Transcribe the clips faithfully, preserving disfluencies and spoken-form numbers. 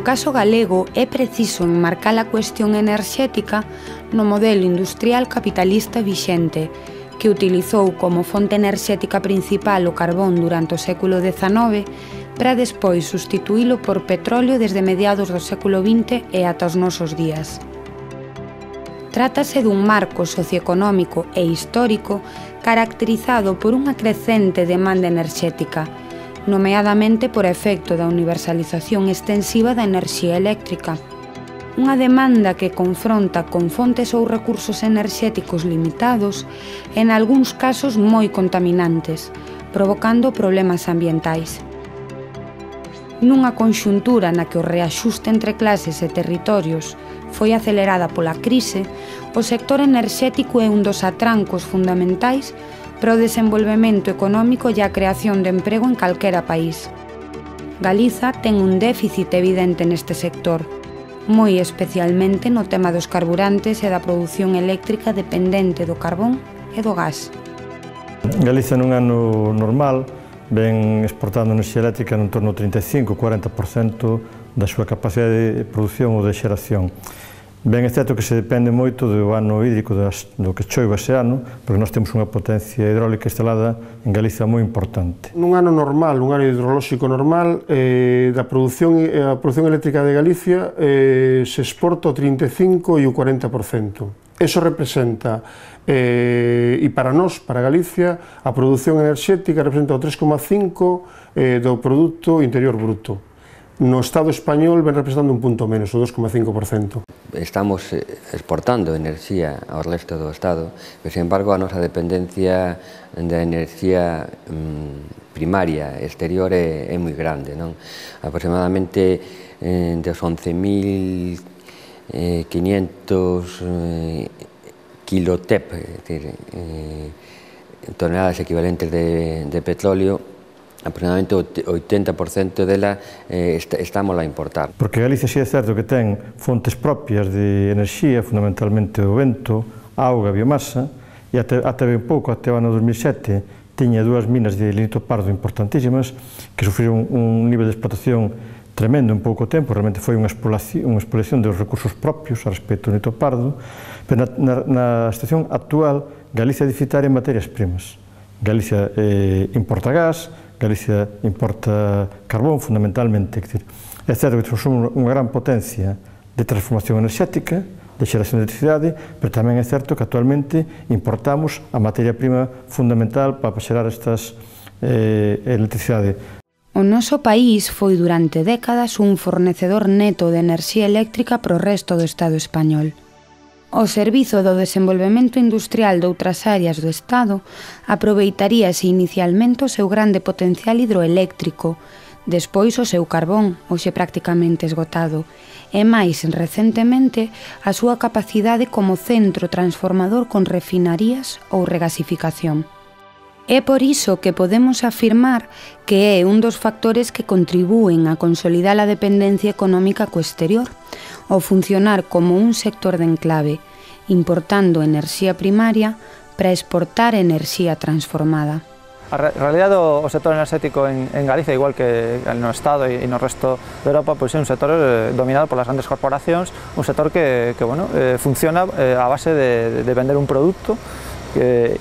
No caso galego é preciso enmarcar a cuestión enerxética no modelo industrial capitalista vixente, que utilizou como fonte enerxética principal o carbón durante o século dezanove para despois sustituílo por petróleo desde mediados do século vinte e ata os nosos días. Trátase dun marco socioeconómico e histórico caracterizado por unha crecente demanda enerxética, nomeadamente por efecto da universalización extensiva da enerxía eléctrica. Unha demanda que confronta con fontes ou recursos enerxéticos limitados e, en algúns casos, moi contaminantes, provocando problemas ambientais. Nunha conxuntura na que o reaxuste entre clases e territorios foi acelerada pola crise, o sector enerxético é un dos atrancos fundamentais para o desenvolvemento económico e a creación de emprego en calquera país. Galiza ten un déficit evidente neste sector, moi especialmente no tema dos carburantes e da produción eléctrica dependente do carbón e do gas. Galiza nun ano normal ven exportando enerxía eléctrica en torno ao trinta e cinco a cuarenta por cento da súa capacidade de produción ou de xeración. Ben é certo que se depende moito do ano hídrico do que choiva ese ano, porque nós temos unha potencia hidráulica instalada en Galiza moi importante. Nun ano normal, un ano hidrolóxico normal, eh, da produción, a produción eléctrica de Galicia eh, se exporta o trinta e cinco e o cuarenta por cento. Eso representa, eh, e para nós, para Galicia, a produción enerxética representa o tres coma cinco por cento eh, do Produto Interior Bruto. No Estado español ven representando un punto menos, o dos coma cinco por cento. Estamos exportando enerxía ao resto do Estado, pero, sin embargo, a nosa dependencia da enerxía mm, primaria exterior é, é moi grande, non? Aproximadamente eh, dos once mil quinhentos eh, kilotep, é dicir, eh, toneladas equivalentes de, de petróleo, aproximadamente o oitenta por cento dela eh, estamos a importar. Porque Galicia sí é certo que ten fontes propias de enerxía, fundamentalmente o vento, a auga, a biomasa, e até, até ben pouco, até o ano dos mil sete, tiña dúas minas de lignito pardo importantísimas que sufriron un nivel de explotación tremendo en pouco tempo, realmente foi unha exploración, unha exploración dos recursos propios a respecto do lignito pardo, pero na, na, na situación actual Galicia é deficitaria en materias primas. Galicia eh, importa gas, Galicia importa carbón, fundamentalmente. É certo que somos unha gran potencia de transformación enerxética, de xeración de electricidade, pero tamén é certo que actualmente importamos a materia prima fundamental para xerar estas eh, electricidade. O noso país foi durante décadas un fornecedor neto de enerxía eléctrica para o resto do Estado español. O Servizo do Desenvolvemento Industrial de outras áreas do Estado aproveitaríase inicialmente o seu grande potencial hidroeléctrico, despois o seu carbón, hoxe prácticamente esgotado, e máis recentemente a súa capacidade como centro transformador con refinarías ou regasificación. É por iso que podemos afirmar que é un dos factores que contribúen a consolidar a dependencia económica co exterior, ao funcionar como un sector de enclave, importando enerxía primaria para exportar enerxía transformada. A realidade do sector enerxético en, en Galicia, igual que no Estado e no resto de Europa, pois é un sector eh, dominado polas grandes corporacións, un sector que, que bueno, eh, funciona eh, a base de, de vender un produto e,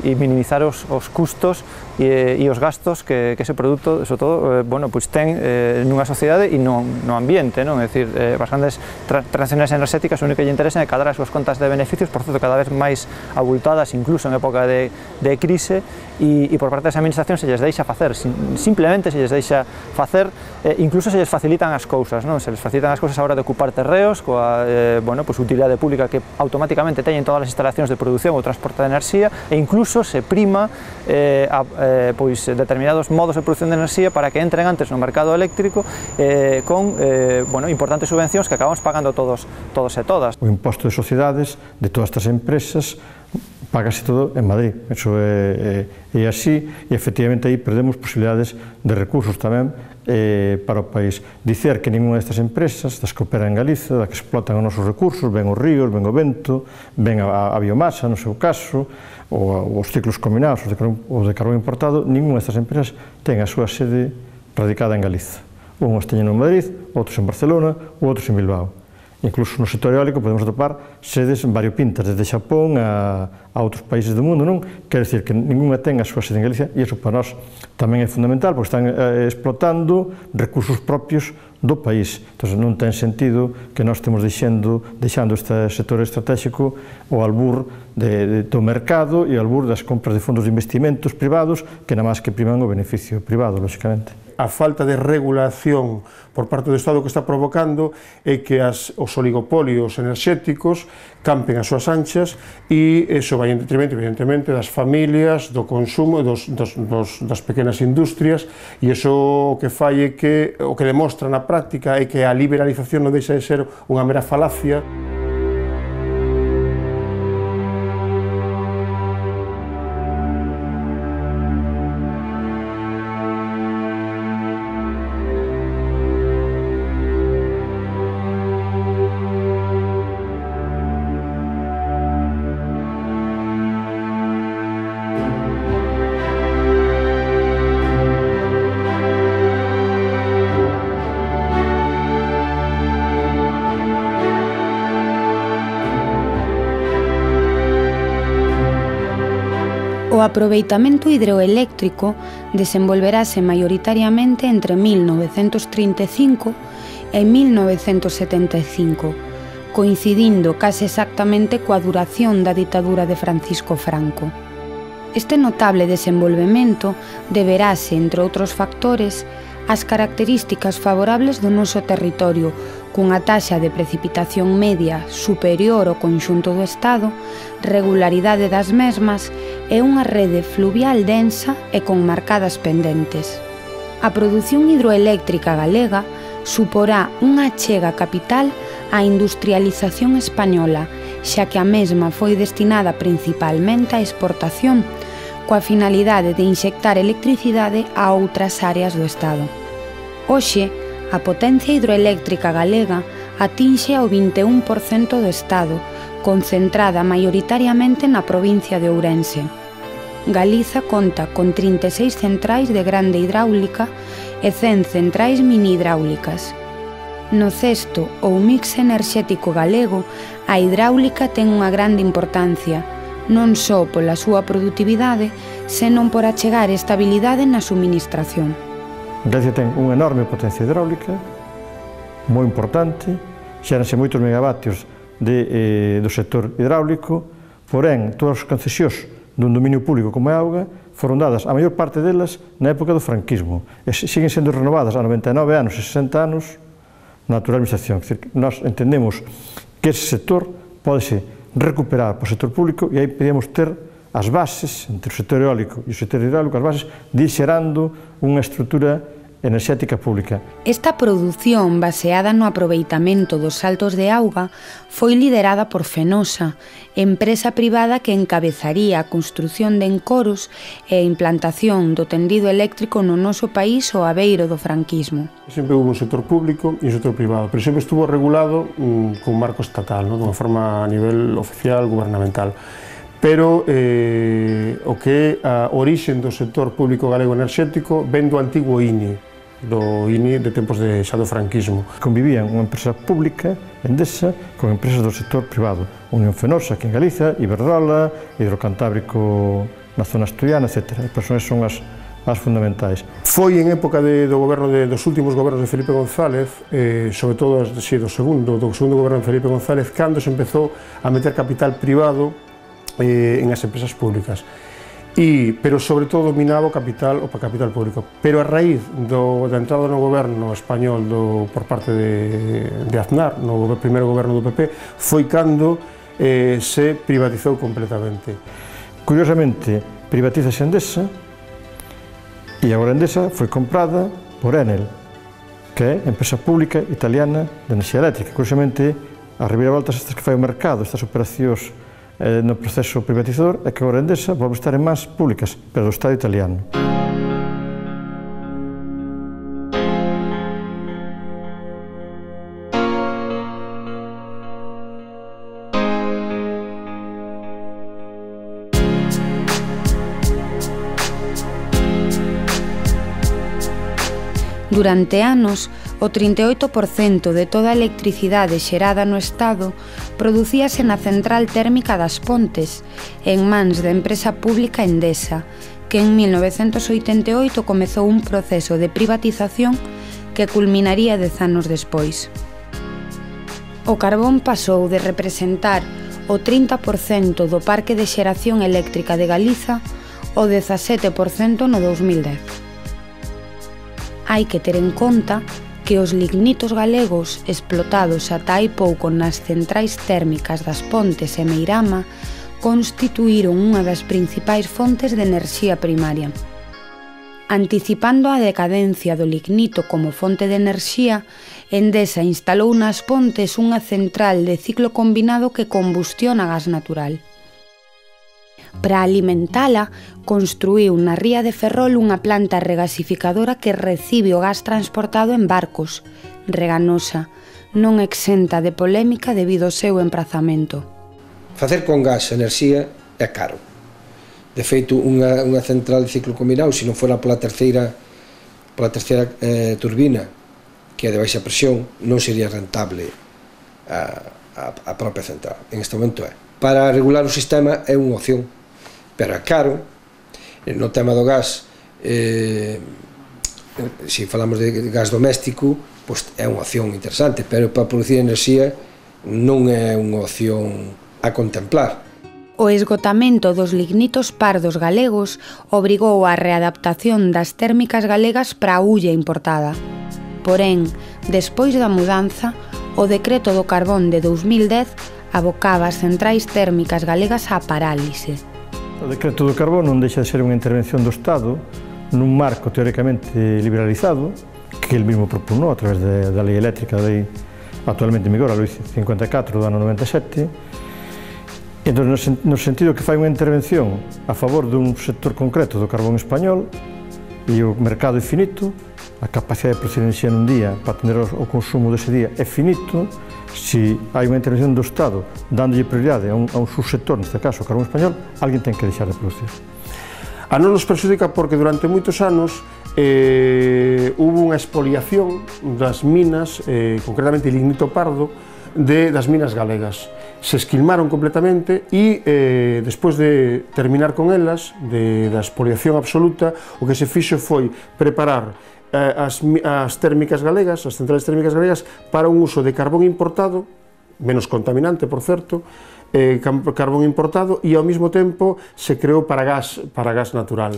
e minimizar os, os custos e, e os gastos que, que ese produto, sobre todo, eh, bueno, pois ten eh, nunha sociedade e no, no ambiente, non? É dicir, eh, as grandes tra transacciones enerxéticas o único que lle interesa é cadrar as súas contas de beneficios, por certo, cada vez máis abultadas, incluso en época de, de crise, e, e por parte das administracións se lles deixa facer, simplemente se lles deixa facer, eh, incluso se lles facilitan as cousas, non? Se lles facilitan as cousas a hora de ocupar terreos, coa, eh, bueno, pois, utilidade pública que automáticamente teñen todas as instalacións de produción ou transporte de enerxía, e incluso se prima eh, a, eh, pois, determinados modos de produción de enerxía para que entren antes no mercado eléctrico eh, con eh, bueno, importantes subvencións que acabamos pagando todos, todos e todas. O imposto de sociedades de todas estas empresas págase todo en Madrid, eso é, é, é así, e efectivamente aí perdemos posibilidades de recursos tamén eh, para o país. Dicer que ninguna destas empresas, das que operan en Galiza, das que explotan os nosos recursos, ven os ríos, ven o vento, ven a, a biomasa, no seu caso, ou os ciclos combinados, os de carbón, os de carbón importado, ninguna destas empresas ten a súa sede radicada en Galiza. Uns teñen en Madrid, outros en Barcelona, outros en Bilbao. Incluso no sector eólico podemos atopar sedes variopintas, desde Xapón a, a outros países do mundo, non? Quer dizer que ninguna ten a súa sede en Galicia, e iso para nós tamén é fundamental, porque están eh, explotando recursos propios do país. Entón, non ten sentido que nós estemos deixando, deixando este sector estratégico ao albur de, de, do mercado e ao albur das compras de fondos de investimentos privados que nada máis que priman o beneficio privado, lógicamente. A falta de regulación por parte do Estado que está provocando é que as, os oligopolios enerxéticos campen as súas anchas e iso vai en detrimento, evidentemente, das familias, do consumo, dos, dos, dos, das pequenas industrias, e iso o que fai é que, o que demostra na práctica é que a liberalización non deixa de ser unha mera falacia. O aproveitamento hidroeléctrico desenvolverase maioritariamente entre mil novecentos trinta e cinco e mil novecentos setenta e cinco, coincidindo case exactamente coa duración da ditadura de Francisco Franco. Este notable desenvolvemento deberase, entre outros factores, as características favorables do noso territorio, cunha taxa de precipitación media superior ao conxunto do Estado, regularidade das mesmas e unha rede fluvial densa e con marcadas pendentes. A produción hidroeléctrica galega suporá unha achega capital á industrialización española, xa que a mesma foi destinada principalmente á exportación, coa finalidade de inxectar electricidade a outras áreas do Estado. Hoxe, a potencia hidroeléctrica galega atinxe ao vinte e un por cento do Estado, concentrada maioritariamente na provincia de Ourense. Galiza conta con trinta e seis centrais de grande hidráulica e cen centrais mini hidráulicas. No cesto ou mix enerxético galego, a hidráulica ten unha grande importancia, non só pola súa produtividade, senón por achegar estabilidade na suministración. Galicia ten unha enorme potencia hidráulica, moi importante, xéranse moitos megavatios de, eh, do sector hidráulico, porén, todas as concesións dun dominio público como é a auga foron dadas, a maior parte delas, na época do franquismo, e siguen sendo renovadas a noventa e nove anos e sesenta anos na actual administración. Quer dizer, nós entendemos que ese sector pode recuperar por sector público e aí podemos ter as bases, entre o sector eólico e o sector hidráulico, as bases de ir xerando unha estrutura enerxética pública. Esta produción baseada no aproveitamento dos saltos de auga foi liderada por Fenosa, empresa privada que encabezaría a construción de encoros e a implantación do tendido eléctrico no noso país ao abeiro do franquismo. Sempre houve un sector público e un sector privado, pero sempre estuvo regulado mm, con marco estatal, ¿no? Dunha forma a nivel oficial, gubernamental. Pero eh, o que é a orixen do sector público galego enerxético ven do antigo I N I, do I N I de tempos de xa do franquismo. Convivían unha empresa pública, Endesa, con empresas do sector privado. Unión Fenosa, aquí en Galiza, Iberdrola, Hidrocantábrico na zona asturiana, etcétera. As persoas son as, as fundamentais. Foi en época de, do goberno de, dos últimos gobernos de Felipe González, eh, sobre todo sí, do segundo, do segundo goberno de Felipe González, cando se empezou a meter capital privado en as empresas públicas, e, pero sobre todo dominaba o capital, o capital público. Pero a raíz do, da entrada no goberno español do, por parte de, de Aznar, no primeiro goberno do P P, foi cando eh, se privatizou completamente. Curiosamente, privatizase Endesa e agora Endesa foi comprada por Enel, que é a empresa pública italiana de enerxía eléctrica. Curiosamente, as reviravoltas estas que fai o mercado, estas operacións no proceso privatizador, é que agora Endesa volve estar en mans públicas, pero do Estado italiano. Durante anos, o trinta e oito por cento de toda a electricidade xerada no Estado producíase na central térmica das Pontes, en mans da empresa pública Endesa, que en mil novecentos oitenta e oito comezou un proceso de privatización que culminaría dez anos despois. O carbón pasou de representar o trinta por cento do parque de xeración eléctrica de Galiza ao dezasete por cento no dous mil dez. Hai que ter en conta que os lignitos galegos explotados ata hai pouco nas centrais térmicas das Pontes e Meirama constituíron unha das principais fontes de enerxía primaria. Anticipando a decadencia do lignito como fonte de enerxía, Endesa instalou nas Pontes unha central de ciclo combinado que combustiona gas natural. Para alimentala, construíu na ría de Ferrol unha planta regasificadora que recibe o gas transportado en barcos, reganosa, non exenta de polémica debido ao seu emprazamento. Facer con gas enerxía é caro. De feito, unha, unha central de ciclo combinado, se non fora pola terceira, pola terceira eh, turbina, que é de baixa presión, non sería rentable a, a, a propia central. En este momento é. Para regular o sistema é unha opción, pero é caro. No tema do gas, eh, se falamos de gas doméstico, pois é unha opción interesante, pero para producir enerxía non é unha opción a contemplar. O esgotamento dos lignitos pardos galegos obrigou a readaptación das térmicas galegas para a hulla importada. Porén, despois da mudanza, o decreto do carbón de dous mil dez abocaba as centrais térmicas galegas á parálise. O decreto do carbón non deixa de ser unha intervención do Estado nun marco teóricamente liberalizado que el mismo propugnou a través de, da lei eléctrica, da lei actualmente en vigor, a lei cincuenta e catro do ano noventa e sete. Entón, no sentido que fai unha intervención a favor dun sector concreto do carbón español e o mercado é finito, a capacidade de producir enerxía nun día para atender o consumo dese día é finito. Se hai unha intervención do Estado dándolle prioridade a un, a un subsector, neste caso o carbón español, alguén ten que deixar de producir. A non nos perxudica porque durante moitos anos eh, hubo unha expoliación das minas, eh, concretamente lignito pardo, de, das minas galegas. Se esquilmaron completamente e, eh, despois de terminar con elas, de, da expoliación absoluta, o que se fixo foi preparar As, as térmicas galegas, as centrales térmicas galegas, para un uso de carbón importado, menos contaminante, por certo, eh, carbón importado, e ao mesmo tempo se creou para gas, para gas natural.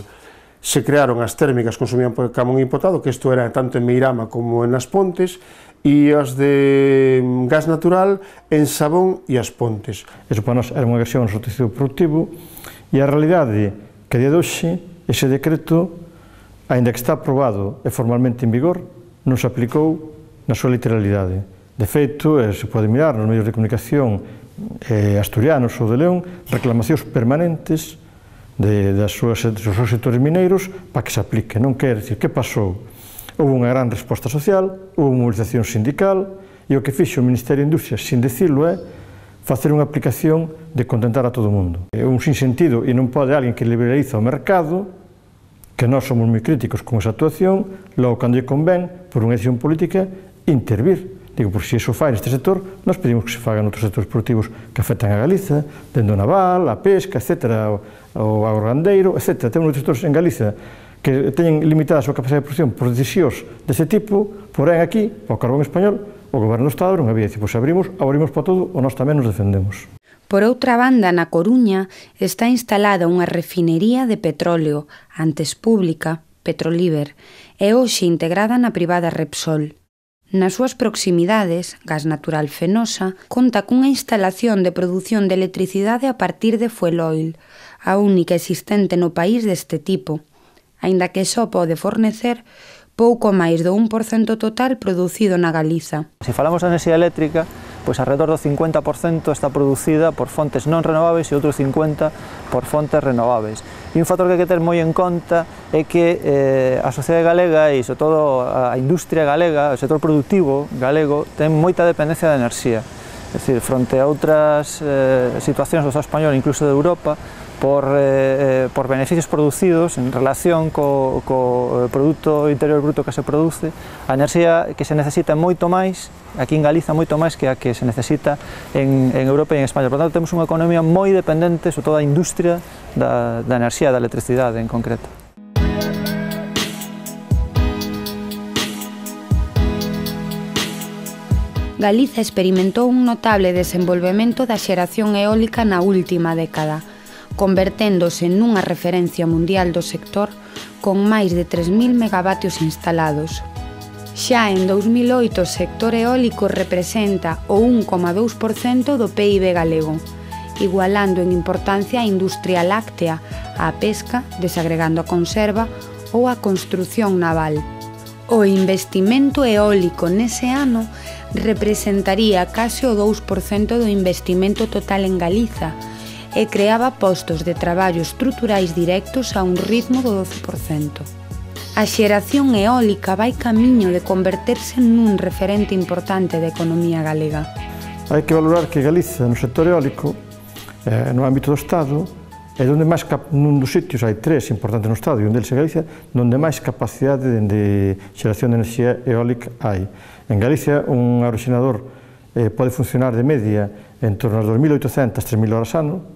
Se crearon as térmicas que consumían carbón importado, que isto era tanto en Meirama como en As Pontes, e as de gas natural en Sabón e As Pontes. Eso para nós era unha agresión ao tecido productivo, e a realidade que a día de hoxe, ese decreto, aínda que está aprobado e formalmente en vigor, non se aplicou na súa literalidade. De feito, eh, se pode mirar nos medios de comunicación eh, asturianos ou de León, reclamacións permanentes de, das súas, dos seus sectores mineiros para que se aplique. Non quer dicir que pasou. Houve unha gran resposta social, houve unha movilización sindical, e o que fixo o Ministerio de Industria, sin decirlo, é facer unha aplicación de contentar a todo o mundo. É un sinsentido, e non pode alguén que liberaliza o mercado, que nós somos moi críticos con esa actuación, logo cando lle convén, por unha decisión política, intervir. Digo, por se iso fai neste sector, nós pedimos que se faga noutros sectores produtivos que afectan a Galiza, dende o naval, a pesca, etcétera, o agrogandeiro, etcétera. Temos outros sectores en Galiza que teñen limitada a súa capacidade de produción por decisións deste tipo, porén aquí, o carbón español, o goberno do Estado non había, dicir, pois abrimos, abrimos para todo, ou nós tamén nos defendemos. Por outra banda, na Coruña está instalada unha refinería de petróleo, antes pública, Petroliber, e hoxe integrada na privada Repsol. Nas súas proximidades, Gas Natural Fenosa conta cunha instalación de produción de electricidade a partir de fuel oil, a única existente no país deste tipo, aínda que só pode fornecer pouco máis do un por cento total producido na Galiza. Se falamos de enerxía eléctrica, pois alrededor do cincuenta por cento está producida por fontes non renováveis e outro cincuenta por cento por fontes renováveis. E un factor que hai que ter moi en conta é que eh, a sociedade galega e, sobre todo, a industria galega, o sector productivo galego, ten moita dependencia da enerxía. É dicir, fronte a outras eh, situacións do Estado español, incluso de Europa, por, eh, por beneficios producidos en relación co, co produto interior bruto que se produce, a enerxía que se necesita moito máis, aquí en Galiza moito máis que a que se necesita en, en Europa e en España. Por tanto, temos unha economía moi dependente, sobre todo a industria da, da enerxía, da electricidade en concreto. Galiza experimentou un notable desenvolvemento da xeración eólica na última década, converténdose nunha referencia mundial do sector con máis de tres mil megavatios instalados. Xa en dous mil oito o sector eólico representa o un coma dous por cento do P I B galego, igualando en importancia a industria láctea, a pesca, desagregando a conserva ou a construción naval. O investimento eólico nese ano representaría case o dous por cento do investimento total en Galiza e creaba postos de traballo estruturais directos a un ritmo do doce por cento. A xeración eólica vai camiño de converterse nun referente importante da economía galega. Hai que valorar que Galiza, no sector eólico, eh, no ámbito do Estado, é onde máis, nun dos sitios, hai tres importantes no Estado, e un deles é Galicia, onde máis capacidade de xeración de enerxía eólica hai. En Galicia, un aeroxenerador eh, pode funcionar de media en torno ás dos mil oitocentas a tres mil horas ano,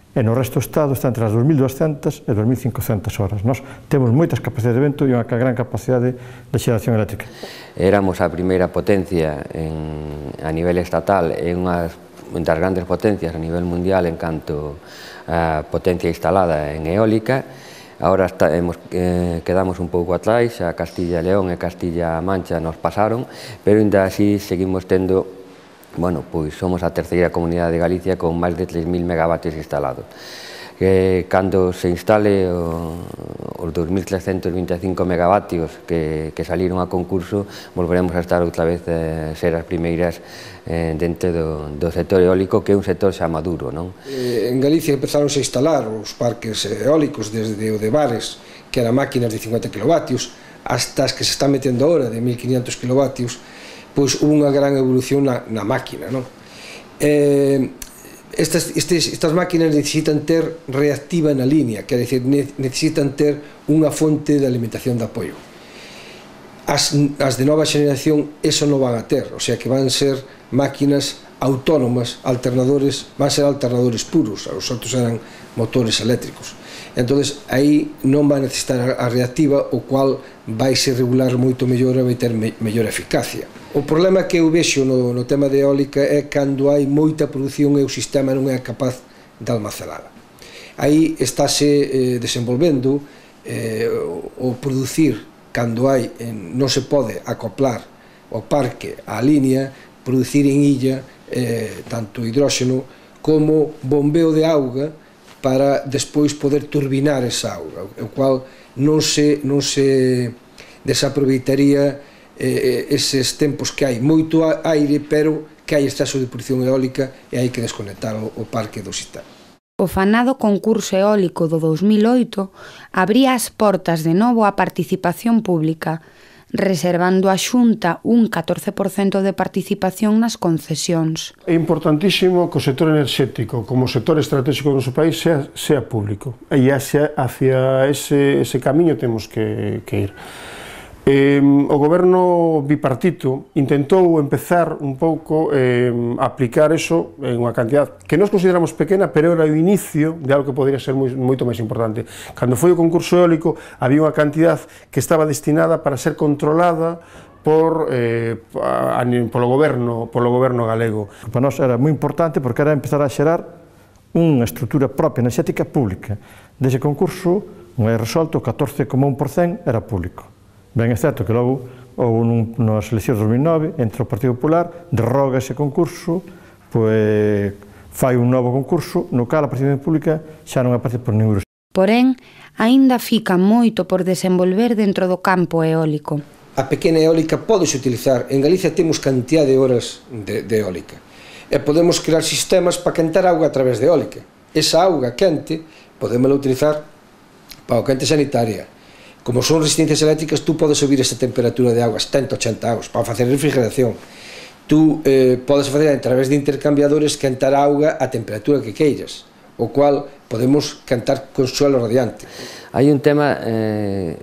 e no resto do Estado está entre as dos mil duascentas e dos mil cincocentas horas. Nós temos moitas capacidades de vento e unha gran capacidade de xeración eléctrica. Éramos a primeira potencia en, a nivel estatal e unhas das grandes potencias a nivel mundial en canto a potencia instalada en eólica. Ahora está, hemos, eh, quedamos un pouco atrás, a Castilla e León e Castilla a Mancha nos pasaron, pero ainda así seguimos tendo. Bueno, pois somos a terceira comunidade de Galicia con máis de tres mil megavatios instalados. Eh, cando se instale o, os dos mil trescentos vinte e cinco megavatios que, que saliron a concurso, volveremos a estar outra vez a eh, ser as primeiras eh, dentro do, do sector eólico, que é un sector xa maduro, non? Eh, en Galicia empezaron a instalar os parques eólicos desde o de Bares, que eran máquinas de cincuenta kilovatios, hasta as que se están metendo ahora de mil quinientos kilovatios, pois hubo unha gran evolución na, na máquina, non? Eh, estas, estes, estas máquinas necesitan ter reactiva na línea, quer dizer, necesitan ter unha fonte de alimentación de apoio. As, as de nova xeneración eso non van a ter, o sea que van ser máquinas autónomas, alternadores, van ser alternadores puros, os outros eran motores eléctricos. Entonces, aí non vai necesitar a reactiva, o cual vai se regular moito mellor e vai ter me, mellor eficacia. O problema que eu vexo no, no tema de eólica é cando hai moita produción e o sistema non é capaz de almacenala. Aí estáse eh, desenvolvendo eh, o, o producir, cando hai, eh, non se pode acoplar o parque á línea, producir en illa eh, tanto hidróxeno como bombeo de auga para despois poder turbinar esa auga, o cual non se, non se desaproveitaría eh, eses tempos que hai moito aire, pero que hai exceso de produción eólica e hai que desconectar o, o parque do sistema. O fanado concurso eólico do dos mil oito abría as portas de novo á participación pública, reservando a Xunta un catorce por cento de participación nas concesións. É importantísimo que o sector enerxético, como sector estratégico do noso país, sea, sea público. E hacia, hacia ese, ese camiño temos que, que ir. Eh, o goberno bipartito intentou empezar un pouco eh, a aplicar eso en unha cantidad que nós consideramos pequena, pero era o inicio de algo que podría ser moi, moito máis importante. Cando foi o concurso eólico, había unha cantidad que estaba destinada para ser controlada por, eh, a, a, polo, goberno, polo goberno galego. Para nós era moi importante porque era empezar a xerar unha estrutura propia enerxética pública. Dese concurso, un resolto, o catorce coma un por cento era público. Ben é certo que logo, ou nas eleccións de dos mil nove, entre o Partido Popular, derroga ese concurso, pois fai un novo concurso, no cal a participación pública xa non aparece por ningún. Porén, aínda fica moito por desenvolver dentro do campo eólico. A pequena eólica pódese utilizar. En Galicia temos cantidad de horas de, de eólica. E podemos crear sistemas para quentar auga a través de eólica. Esa auga quente podémola utilizar para o quente sanitaria. Como son resistencias eléctricas, tú podes subir esta temperatura de auga a setenta, ochenta graus para facer refrigeración. Tú eh, podes facer a través de intercambiadores quentar a auga a temperatura que queiras. o cual podemos cantar con suelo radiante. Hai un tema eh,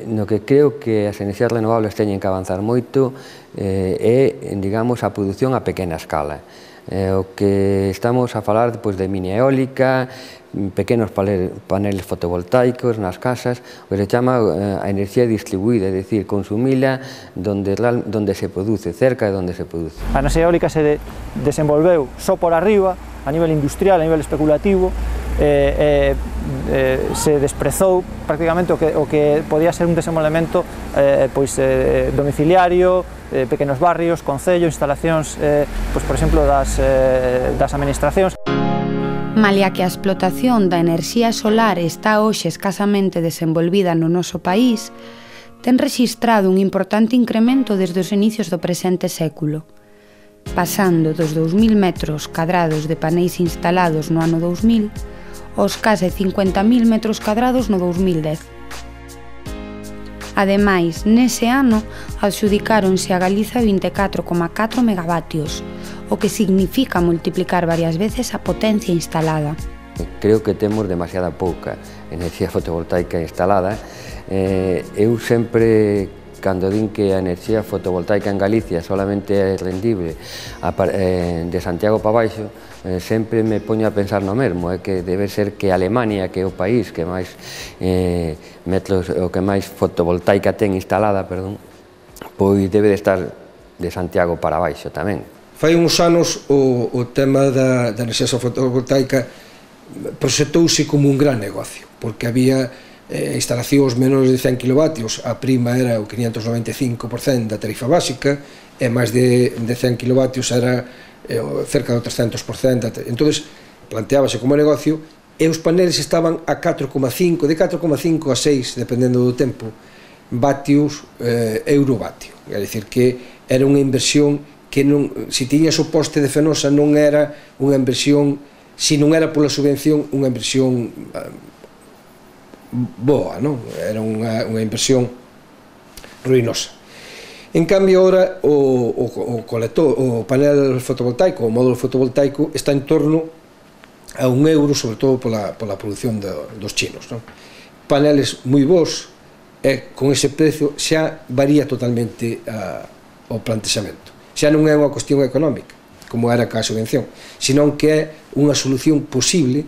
no que creo que as enerxías renovables teñen que avanzar moito eh, é, digamos, a produción a pequena escala. Eh, o que estamos a falar pois, de mini eólica, pequenos paneles fotovoltaicos nas casas, o que se chama eh, a enerxía distribuída, é dicir, consumila donde, donde se produce, cerca de donde se produce. A enerxía eólica se de, desenvolveu só por arriba, a nivel industrial, a nivel especulativo, eh, eh, se desprezou prácticamente o que, o que podía ser un desenvolvemento eh, pois, eh, domiciliario, eh, pequenos barrios, concellos, instalacións, eh, pois, por exemplo, das, eh, das administracións. Malia que a explotación da enerxía solar está hoxe escasamente desenvolvida no noso país, ten rexistrado un importante incremento desde os inicios do presente século, pasando dos dous mil metros cadrados de paneis instalados no ano dous mil aos case cincuenta mil metros cadrados no dous mil dez. Ademais, nese ano, adxudicáronse a Galiza vinte e catro coma catro megavatios, o que significa multiplicar varias veces a potencia instalada. Creo que temos demasiada pouca enerxía fotovoltaica instalada. Eh, eu sempre, cando din que a enerxía fotovoltaica en Galicia solamente é rendible a, eh, de Santiago para baixo, eh, sempre me poño a pensar no mesmo, é que debe ser que Alemania, que é o país que máis eh, metros, o que máis fotovoltaica ten instalada, perdón, pois debe de estar de Santiago para baixo tamén. Fai uns anos o, o tema da, da enerxía fotovoltaica proxectouse como un gran negocio, porque había eh, instalacións menores de cen kilovatios, a prima era o quinhentos noventa e cinco por cento da tarifa básica, e máis de, de cen kilovatios era eh, cerca do trescentos por cento. Entón, planteábase como negocio, e os paneles estaban a catro coma cinco, de catro coma cinco a seis, dependendo do tempo, vatios eh, eurovatio. É dicir, que era unha inversión que non, se tiñas o poste de Fenosa non era unha inversión, se non era pola subvención, unha inversión uh, boa, non? Era unha, unha inversión ruinosa. En cambio, agora, o, o, o, colector, o panel fotovoltaico, o módulo fotovoltaico, está en torno a un euro, sobre todo pola, pola produción de, dos chinos, non? Paneles moi bons, e con ese precio xa varía totalmente a, o plantexamento. Xa non é unha cuestión económica, como era ca subvención, senón que é unha solución posible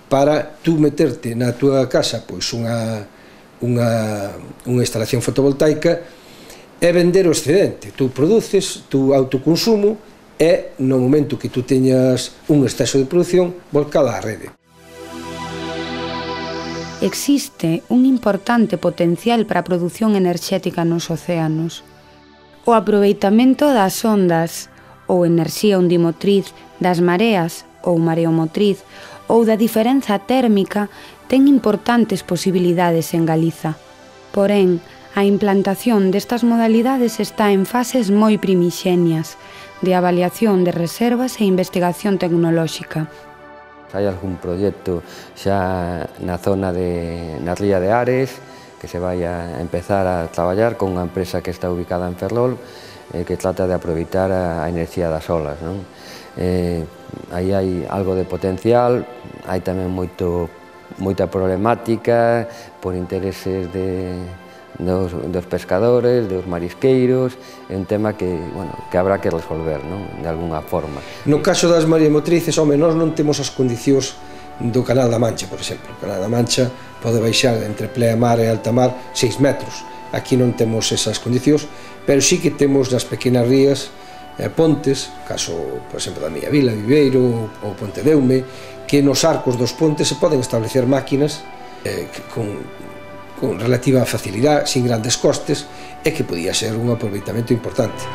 para tú meterte na túa casa pois unha, unha, unha instalación fotovoltaica e vender o excedente. Tú produces, tú autoconsumo e no momento que tú teñas un exceso de produción, volcala á rede. Existe un importante potencial para a produción enerxética nos océanos. O aproveitamento das ondas ou enerxía ondimotriz das mareas ou mareomotriz ou da diferenza térmica ten importantes posibilidades en Galiza. Porén, a implantación destas modalidades está en fases moi primixenias de avaliación de reservas e investigación tecnolóxica. Hai algún proxecto xa na zona de, na ría de Ares, que se vai a empezar a traballar con unha empresa que está ubicada en Ferrol, eh, que trata de aproveitar a, a enerxía das olas, non? Eh, aí hai algo de potencial, hai tamén moito, moita problemática por intereses de, dos, dos pescadores, dos marisqueiros, é un tema que, bueno, que habrá que resolver, non? De alguna forma. No caso das mareomotrices, home, nós non temos as condicións do Canal da Mancha, por exemplo. O Canal da Mancha pode baixar entre pleamar e alta mar seis metros. Aquí non temos esas condicións, pero sí que temos nas pequenas rías eh, pontes, caso, por exemplo, da Miña Vila, Viveiro ou Ponte Deume, que nos arcos dos pontes se poden establecer máquinas eh, con, con relativa facilidade, sin grandes costes, e que podía ser un aproveitamento importante.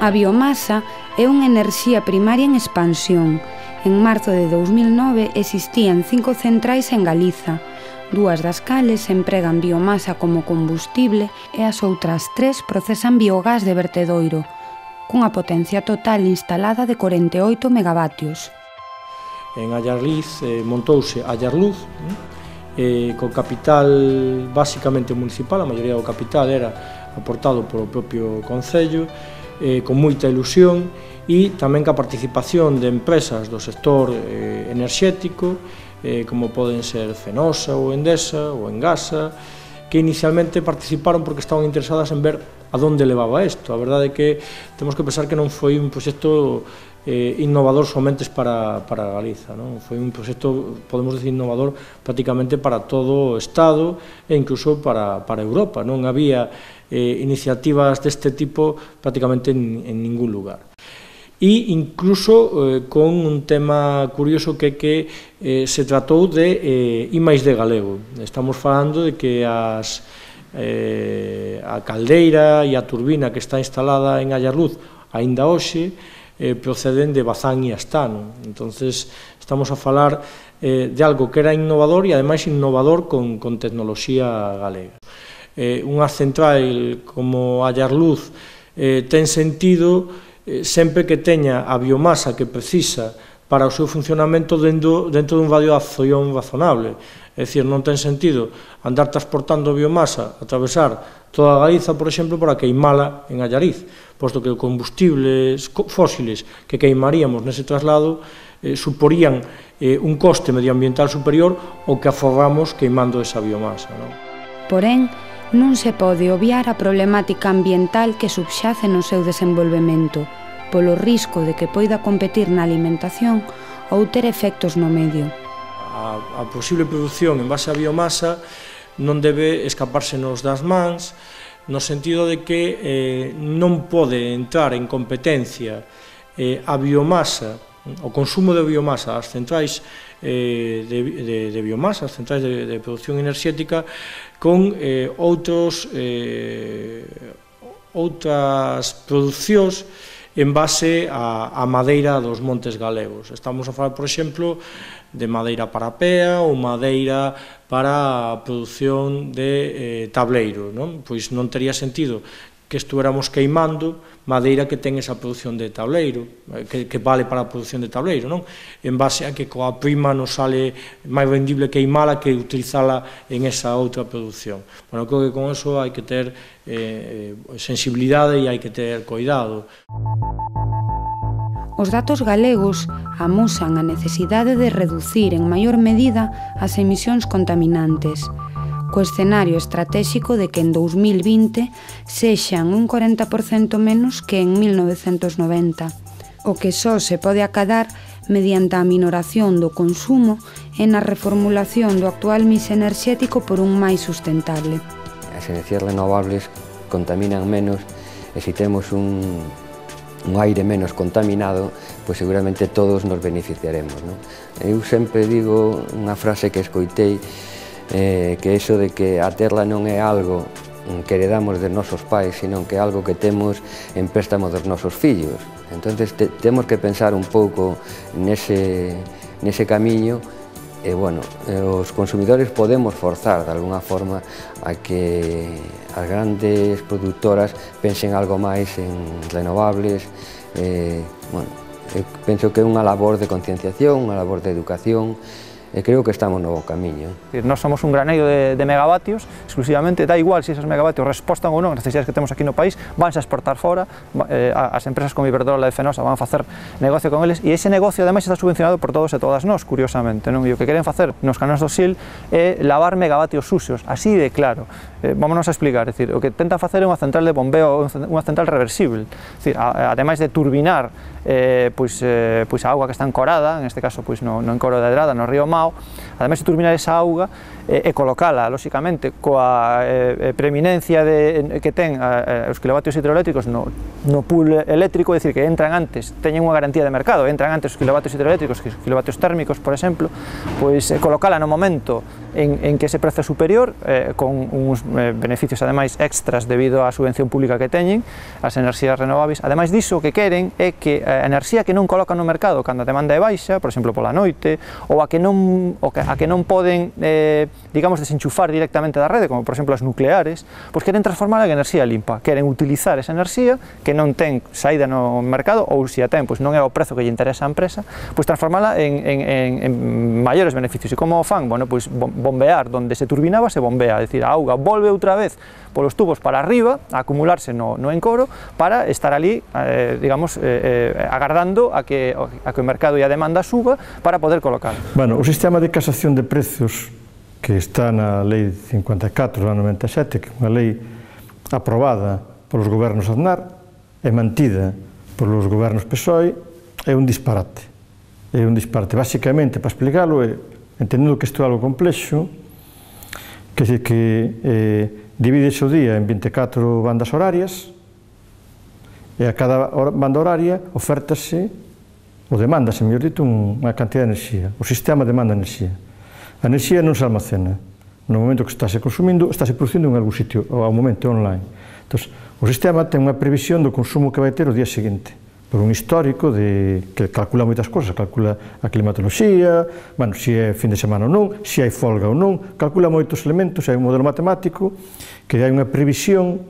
A biomasa é unha enerxía primaria en expansión. En marzo de dous mil nove existían cinco centrais en Galiza, dúas das cales empregan biomasa como combustible e as outras tres procesan biogás de vertedoiro, cunha potencia total instalada de corenta e oito megavatios. En Allarliz eh, montouse Allarluz, eh, co capital basicamente municipal, a maioría do capital era aportado polo propio Concello, eh, con moita ilusión, e tamén ca participación de empresas do sector eh, enerxético, eh, como poden ser Fenosa ou Endesa ou Engasa, que inicialmente participaron porque estaban interesadas en ver a donde levaba isto. A verdade é que temos que pensar que non foi un proxecto eh, innovador somente para, para Galiza, non? Foi un proxecto, podemos decir, innovador prácticamente para todo o Estado e incluso para, para Europa. Non había eh, iniciativas deste tipo prácticamente en, en ningún lugar. E incluso eh, con un tema curioso que que eh, se tratou de eh, I máis D galego. Estamos falando de que as, eh, a caldeira e a turbina que está instalada en Ayarluz aínda hoxe eh, proceden de Bazán e Astano. Entonces estamos a falar eh, de algo que era innovador e ademais innovador con, con tecnoloxía galega. Eh, unha central como Ayarluz eh, ten sentido sempre que teña a biomasa que precisa para o seu funcionamento dentro, dentro dun radio de acción razonable. É dicir, non ten sentido andar transportando biomasa, atravesar toda a Galiza, por exemplo, para queimala en Allariz, posto que os combustibles fósiles que queimaríamos nese traslado eh, suporían eh, un coste medioambiental superior ao que aforramos queimando esa biomasa, non? Porén, non se pode obviar a problemática ambiental que subxace no seu desenvolvemento, polo risco de que poida competir na alimentación ou ter efectos no medio. A, a posible produción en base a biomasa non debe escapársenos das mans, no sentido de que eh, non pode entrar en competencia eh, a biomasa, o consumo de biomasa, as centrais eh, de, de, de biomasa, as centrais de, de produción enerxética, con eh, outros, eh, outras producións en base a, a madeira dos montes galegos. Estamos a falar, por exemplo, de madeira para pea ou madeira para a produción de eh, tableiro, non? Pois non tería sentido que estuéramos queimando madeira que ten esa produción de tableiro, que, que vale para a produción de tableiro, non? En base a que coa prima nos sale máis vendible queimala que utilizala en esa outra produción. Bueno, creo que con eso hai que ter eh, sensibilidade e hai que ter cuidado. Os datos galegos amosan a necesidade de reducir en maior medida as emisións contaminantes, co escenario estratéxico de que en dous mil vinte sexan un corenta por cento menos que en mil novecentos noventa, o que só se pode acadar mediante a minoración do consumo e na reformulación do actual mix enerxético por un máis sustentable. As enerxías renovables contaminan menos e se temos un, un aire menos contaminado, pois seguramente todos nos beneficiaremos, non? Eu sempre digo unha frase que escoitei, Eh, que eso de que a terra non é algo que heredamos dos nosos pais, sino que é algo que temos en préstamo dos nosos fillos. Entonces te, temos que pensar un pouco nese, nese camiño e, bueno, eh, os consumidores podemos forzar de alguna forma a que as grandes productoras pensen algo máis en renovables. Eh, bueno, eu penso que é unha labor de concienciación, unha labor de educación, e creo que estamos no bo camiño. Nós somos un graneiro de, de megavatios, exclusivamente, da igual se esas megavatios respostan ou non as necesidades que temos aquí no país, vanse a exportar fora, eh, as empresas como Iberdrola e Fenosa van a facer negocio con eles, e ese negocio ademais está subvencionado por todos e todas nós, curiosamente, non? E o que queren facer nos canóns do S I L é lavar megavatios sucios, así de claro. Eh, vámonos a explicar, é dicir, o que tentan facer é unha central de bombeo, unha central reversible, é dicir, a, ademais de turbinar eh, pois, eh, pois a auga que está encorada, en este caso pois no, no encoro de Adrada, no río Mao, ademais de turbinar esa auga eh, e colocala, lóxicamente, coa eh, preeminencia de, que ten eh, os kilovatios hidroeléctricos no, no pool eléctrico, é dicir, que entran antes, teñen unha garantía de mercado, entran antes os kilovatios hidroeléctricos que os kilovatios térmicos, por exemplo, pois eh, colocala no momento en, en que ese prezo é superior, eh, con uns eh, beneficios ademais extras debido á subvención pública que teñen, as enerxías renovables. Ademais diso, o que queren é que a enerxía que non colocan no mercado cando a demanda é baixa, por exemplo, pola noite, ou a que non non, o que, a que non poden, eh, digamos, desenchufar directamente da rede, como por exemplo as nucleares, pois queren transformala en enerxía limpa, queren utilizar esa enerxía que non ten saída no mercado, ou se a ten, pois non é o prezo que lle interesa a empresa, pois transformala en, en, en, en maiores beneficios. E como o fan? Bueno, pois bombear donde se turbinaba, se bombea, é dicir, a auga volve outra vez polos tubos para arriba, a acumularse no, no encoro, para estar ali, eh, digamos, eh, eh, agardando a que, a que o mercado e a demanda suba para poder colocar. Bueno, o sistema de casación de precios que está na Lei cincuenta e catro do ano noventa e sete, que é unha lei aprobada polos gobernos Aznar e mantida polos gobernos P S O E, é un disparate. É un disparate. Básicamente, para explicalo, é, entendendo que isto é algo complexo, que é que eh, divide o día en vinte e catro bandas horarias e a cada banda horaria ofértase ou demandase, mellor dito, unha cantidad de enerxía. O sistema demanda enerxía. A enerxía non se almacena. No momento que estáse consumindo, estáse producindo en algún sitio, ou ao momento online. Entón, o sistema ten unha previsión do consumo que vai ter o día seguinte, por un histórico de, que calcula moitas cousas, calcula a climatoloxía, bueno, se é fin de semana ou non, se hai folga ou non, calcula moitos elementos, hai un modelo matemático que hai unha previsión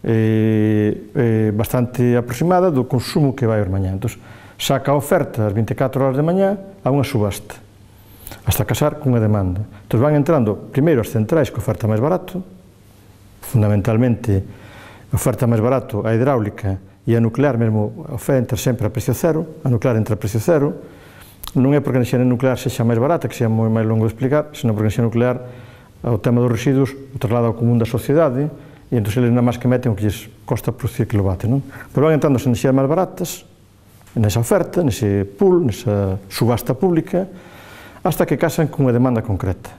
eh, eh, bastante aproximada do consumo que vai ao mañá. Entón, saca a oferta ás vinte e catro horas de mañá a unha subasta, hasta casar cunha demanda. Entón, van entrando primeiro as centrais que oferta máis barato, fundamentalmente a oferta máis barato a hidráulica e a nuclear mesmo oferta sempre a precio cero, a nuclear entra a precio cero, non é porque a enerxía nuclear sexa máis barata, que sexa moi máis longo de explicar, senón porque a enerxía nuclear, o tema dos residuos, o traslada ao común da sociedade, e entón eles nada máis que meten o que lles costa producir kilovatio, non? Pero van entrando as enerxías máis baratas, nesa oferta, nese pool, nesa subasta pública, hasta que casan cunha demanda concreta.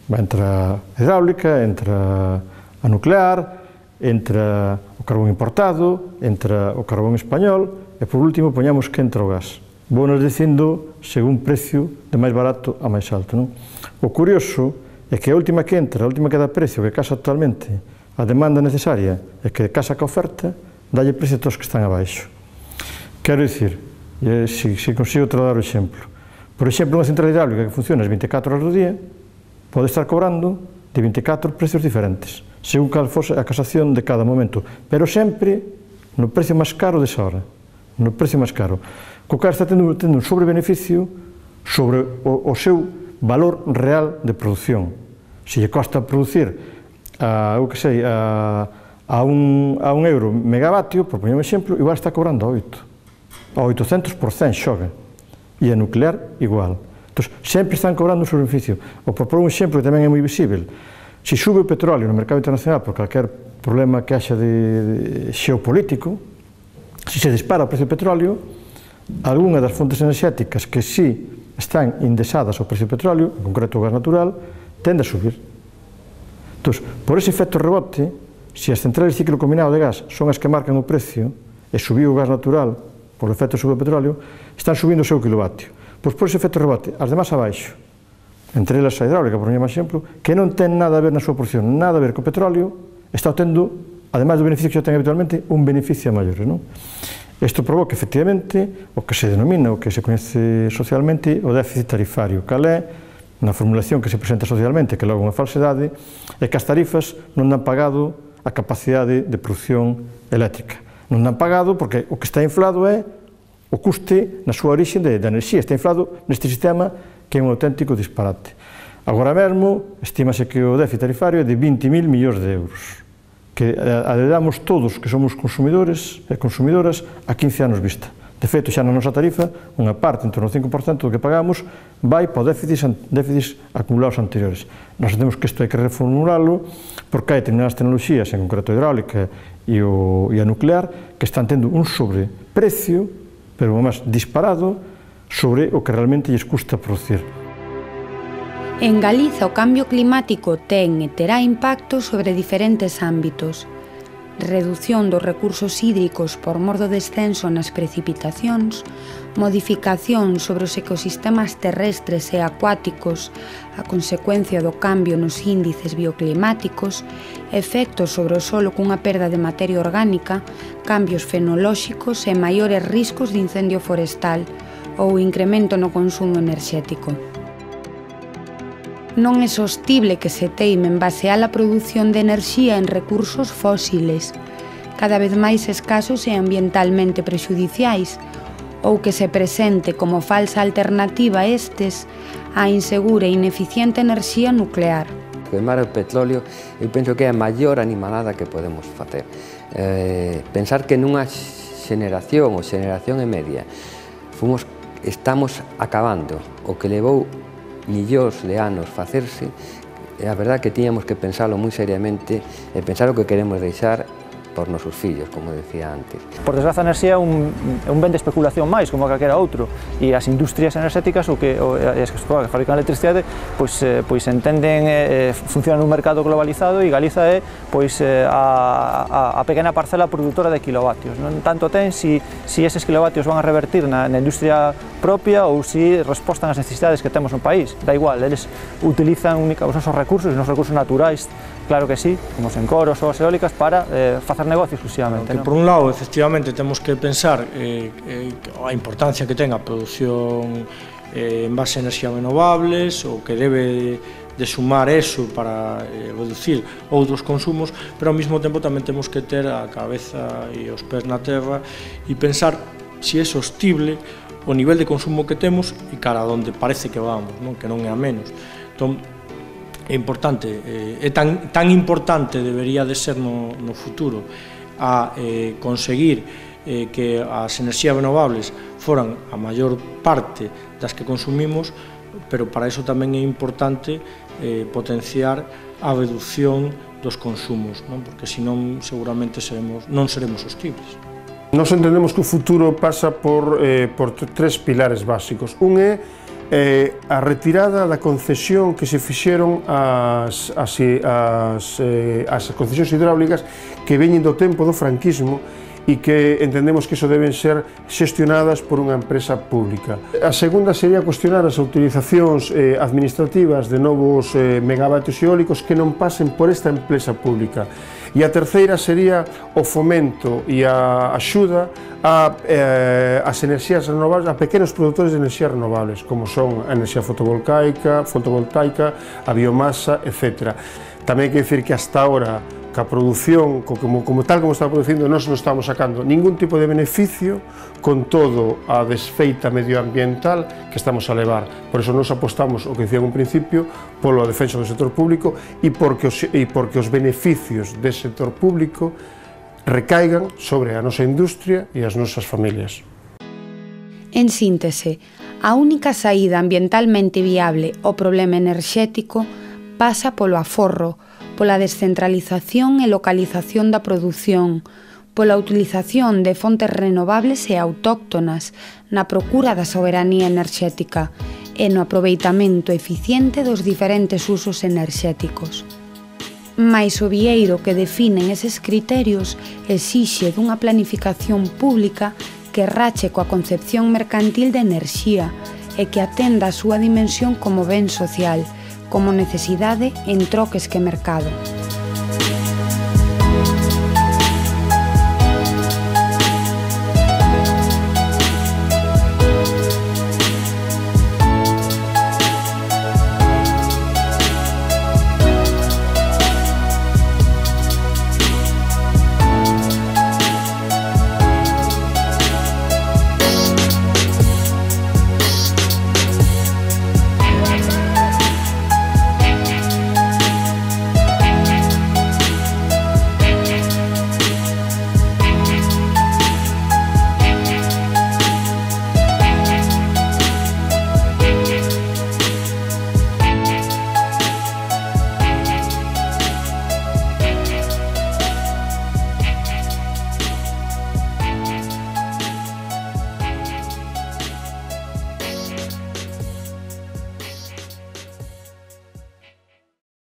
Va entra a hidráulica, entra a nuclear, entra o carbón importado, entra o carbón español e, por último, poñamos que entra o gas. Vou nos dicindo según precio de máis barato a máis alto, non? O curioso é que a última que entra, a última que dá precio, que casa totalmente a demanda necesaria e que casa ca oferta, dalle precio a todos que están abaixo. Quero dicir, se, se consigo trasladar o exemplo, por exemplo, unha central hidráulica que funciona as vinte e catro horas do día pode estar cobrando de vinte e catro precios diferentes, según cal fose a casación de cada momento, pero sempre no precio máis caro desa hora, no precio máis caro. Co cal está tendo, tendo un sobrebeneficio sobre o, o seu valor real de produción. Se lle costa producir a, o que sei, a, a, un, a un euro megavatio, por poñer un exemplo, igual está cobrando a oito. A oitocentos por cento xoga. E a nuclear igual. Entón, sempre están cobrando un sobrebeneficio. Ou por por un exemplo que tamén é moi visível, se sube o petróleo no mercado internacional por calquer problema que haxa de, de xeopolítico, se se dispara o precio do petróleo, algunha das fontes enerxéticas que si están indexadas ao precio do petróleo, en concreto o gas natural, tende a subir. Entón, por ese efecto rebote, se as centrales de ciclo combinado de gas son as que marcan o precio e subiu o gas natural por efecto sobre o petróleo, están subindo o seu kilovatio. Pois por ese efecto rebote, as demás abaixo, entre elas a hidráulica, por un exemplo, que non ten nada a ver na súa porción, nada a ver co petróleo, está tendo, ademais do beneficio que xa ten habitualmente, un beneficio maior, non? Isto provoca, efectivamente, o que se denomina, o que se coñece socialmente, o déficit tarifario, cal é, na formulación que se presenta socialmente, que logo é unha falsedade, é que as tarifas non dan pagado a capacidade de produción eléctrica. Non dan pagado porque o que está inflado é o custe na súa orixe de, de enerxía, está inflado neste sistema que é un auténtico disparate. Agora mesmo, estímase que o déficit tarifario é de vinte mil millóns de euros, que adedamos todos que somos consumidores e consumidoras a quince anos vista. De feito, xa na nosa tarifa, unha parte, en torno ao cinco por cento do que pagamos, vai para déficits, déficits acumulados anteriores. Nós temos que isto hai que reformulalo, porque hai determinadas tecnoloxías, en concreto a hidráulica e, o, e a nuclear, que están tendo un sobreprecio, pero máis disparado, sobre o que realmente lles custa producir. En Galiza o cambio climático ten e terá impacto sobre diferentes ámbitos. Redución dos recursos hídricos por mor do descenso nas precipitacións, modificación sobre os ecosistemas terrestres e acuáticos a consecuencia do cambio nos índices bioclimáticos, efectos sobre o solo cunha perda de materia orgánica, cambios fenolóxicos e maiores riscos de incendio forestal ou incremento no consumo enerxético. Non é sostible que se teime en basear a produción de enerxía en recursos fósiles, cada vez máis escasos e ambientalmente prexudiciais, ou que se presente como falsa alternativa a estes a insegura e ineficiente enerxía nuclear. Queimar o petróleo, eu penso que é a maior animalada que podemos facer. Eh, pensar que nunha xeneración ou xeneración e media fomos, estamos acabando o que levou millóns de anos facerse, é a verdad que tiñamos que pensalo moi seriamente e pensar o que queremos deixar por nosos fillos, como decía antes. Por desgraza, a enerxía é un, un ben de especulación máis, como calquera outro, e as industrias enerxéticas, o que, o, as que fabrican electricidade, pois, eh, pois entenden, eh, funcionan nun mercado globalizado, e Galiza é pois, eh, a, a, a pequena parcela produtora de kilovatios. Non tanto ten si, si eses kilovatios van a revertir na, na industria propia ou si respostan ás necesidades que temos no país. Da igual, eles utilizan única, os nosos recursos, os nosos recursos naturais, claro que sí, como os encoros ou as eólicas, para eh, facer negocio exclusivamente. Que, ¿no? Por un lado, efectivamente, temos que pensar eh, eh, a importancia que ten a produción eh, en base a enerxías renovables, o que debe de sumar eso para eh, reducir outros consumos, pero ao mesmo tempo tamén temos que ter a cabeza e os pés na terra e pensar se é sostible o nivel de consumo que temos e cara a onde parece que vamos, non? Que non é a menos. Entón, é importante, eh, é tan, tan importante debería de ser no, no futuro a eh, conseguir eh, que as enerxías renovables foran a maior parte das que consumimos, pero para iso tamén é importante eh, potenciar a reducción dos consumos, non? Porque senón seguramente seremos, non seremos sostibles. Nos entendemos que o futuro pasa por, eh, por tres pilares básicos. Un é eh, a retirada da concesión que se fixeron as, as, as, eh, as concesións hidráulicas que veñen do tempo do franquismo e que entendemos que iso deben ser xestionadas por unha empresa pública. A segunda sería cuestionar as utilizacións eh, administrativas de novos eh, megavatios eólicos que non pasen por esta empresa pública. E a terceira sería o fomento e a axuda a, eh, as enerxías renovables, a pequenos produtores de enerxías renovables, como son a enerxía fotovoltaica, fotovoltaica, a biomasa, etcétera. Tamén hai que dicir que hasta ahora que a produción, como, como tal como está producindo, nós non estamos sacando ningún tipo de beneficio con todo a desfeita medioambiental que estamos a levar. Por eso nos apostamos, o que dicía en un principio, polo defensa do sector público e porque os, e porque os beneficios do sector público recaigan sobre a nosa industria e as nosas familias. En síntese, a única saída ambientalmente viable ao problema enerxético pasa polo aforro, pola descentralización e localización da produción, pola utilización de fontes renovables e autóctonas na procura da soberanía enerxética e no aproveitamento eficiente dos diferentes usos enerxéticos. Mais o vieiro que definen eses criterios exixe dunha planificación pública que rache coa concepción mercantil de enerxía e que atenda a súa dimensión como ben social, como necesidade en troques que mercado.